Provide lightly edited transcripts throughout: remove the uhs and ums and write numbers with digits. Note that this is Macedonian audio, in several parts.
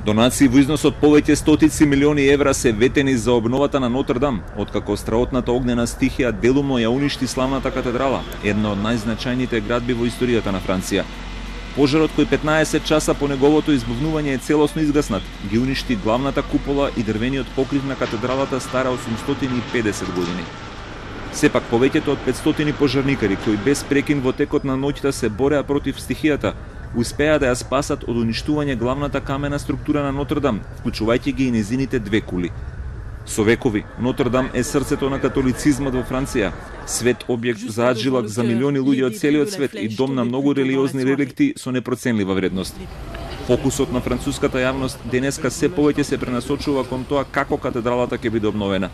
Донации во износ од повеќе стотици милиони евра се ветени за обновата на Нотр-Дам, откако страотната огнена стихија делумно ја уништи славната катедрала, една од најзначајните градби во историјата на Франција. Пожарот кој 15 часа по неговото избавнување е целосно изгаснат, ги уништи главната купола и дрвениот покрив на катедралата стара 850 години. Сепак повеќето од 500 пожарникари кои без прекин во текот на ноќта се бореа против стихијата, успеа да ја спасат од уништување главната камена структура на Нотр-Дам, вклучувајќи ги и незините две кули. Со векови, Нотр-Дам е срцето на католицизмот во Франција, свет објект за аджилак за милиони луѓе од целиот свет и дом на многу религиозни реликти со непроценлива вредност. Фокусот на француската јавност денеска се повеќе се пренасочува кон тоа како катедралата ќе биде обновена.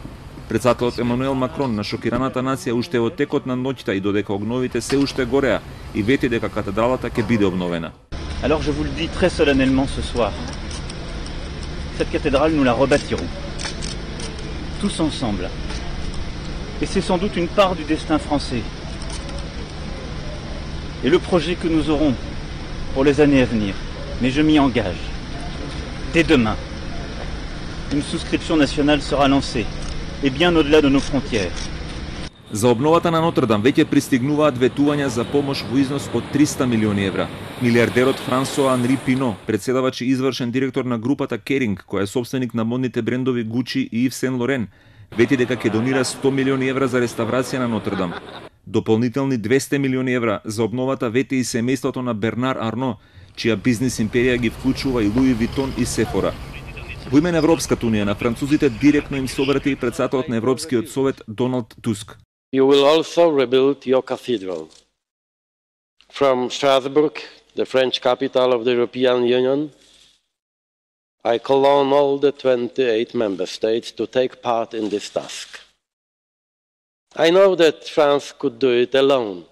Председателот Емануел Макрон на шокираната нација уште во текот на ноќта и додека огновите се уште гореа и вети дека катедралата ќе биде обновена. Alors je vous le dis très solennellement ce soir. Cette cathédrale nous la rebâtirons. Tous ensemble. Et c'est sans doute une part du destin français. Et le projet que nous aurons pour les années à venir. Mais je m'y engage. Dès demain, une souscription nationale sera lancée. Et bien au-delà de nos frontières. За обновата на Нотр-Дам веќе пристигнуваат ветувања за помош во износ од 300 милиони евра. Милиардерот Франсоа Анри Пино, председавач и извршен директор на групата Керинг, која е собственик на модните брендови Гучи и Ив Сен Лорен, вети дека ќе донира 100 милиони евра за реставрација на Нотр-Дам. Дополнителни 200 милиони евра за обновата вети и семејството на Бернар Арно, чија бизнис империја ги вклучува и Луи Витон и Сефора. Во име на Европската унија на французите директно им се обрати и председателот на Европскиот совет Доналд Туск. You will also rebuild your cathedral. From Strasbourg, the French capital of the European Union, I call on all the 28 member states to take part in this task. I know that France could do it alone,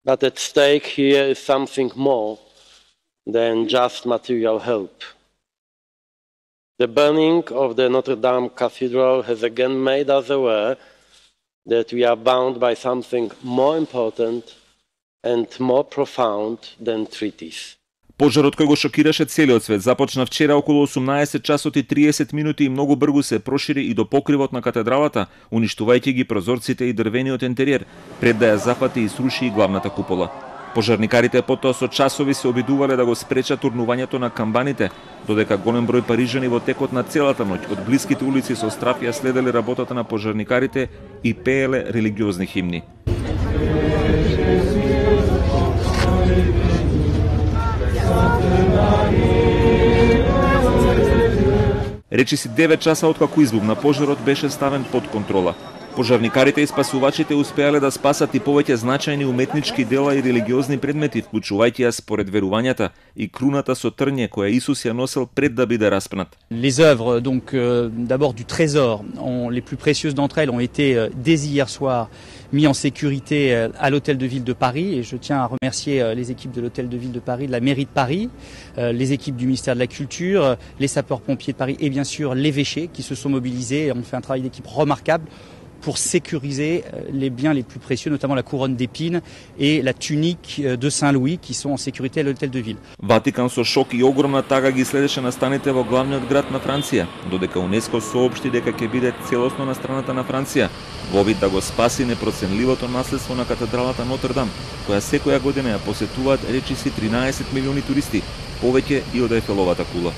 but at stake here is something more than just material help. The burning of the Notre Dame Cathedral has again made us aware that we are bound by something more important and more profound than treaties. Пожарот кој го шокираше целиот свет започна вчера околу 18 часот и 30 минути и многу брзо се прошири и до покривот на катедралата, уништувајќи ги прозорците и дрвениот интериер, пред да ја запати и сруши и главната купола. Пожарникарите потоа со часови се обидувале да го спречат урнувањето на камбаните, додека голем број парижани во текот на целата ноќ од блиските улици со страв ја следеле работата на пожарникарите и пееле религиозни химни. Речиси 9 часа откако избухна пожарот беше ставен под контрола. Пожарникарите и спасувачите успеале да спасат и повеќе значајни уметнички дела и религиозни предмети, вклучувајќи ја според верувањата и круната со трње која Исус ја носел пред да биде распнат. Les œuvres donc d'abord du trésor, les plus précieuses d'entre elles ont été dès hier soir mis en sécurité à l'hôtel de ville de Paris et je tiens à remercier les équipes de l'hôtel de ville de Paris, de la mairie de Paris, les équipes du ministère de la Culture, les sapeurs-pompiers de Paris et bien sûr l'évêché qui se sont mobilisés et ont fait un travail d'équipe remarquable pour sécuriser les biens les plus précieux, notamment la couronne d'épines et la tunique de Saint-Louis qui sont en sécurité à l'hôtel de ville. Ватикан со шок и огромна тага ги следеше настаните во главниот град на Франција, додека УНЕСКО соопшти дека ќе биде целосно на страната на Франција, во обид да го спаси непроценливото наследство на катедралата Нотр-Дам, која секоја година ја посетуваат речиси 13 милиони туристи, повеќе и од Ефеловата кула.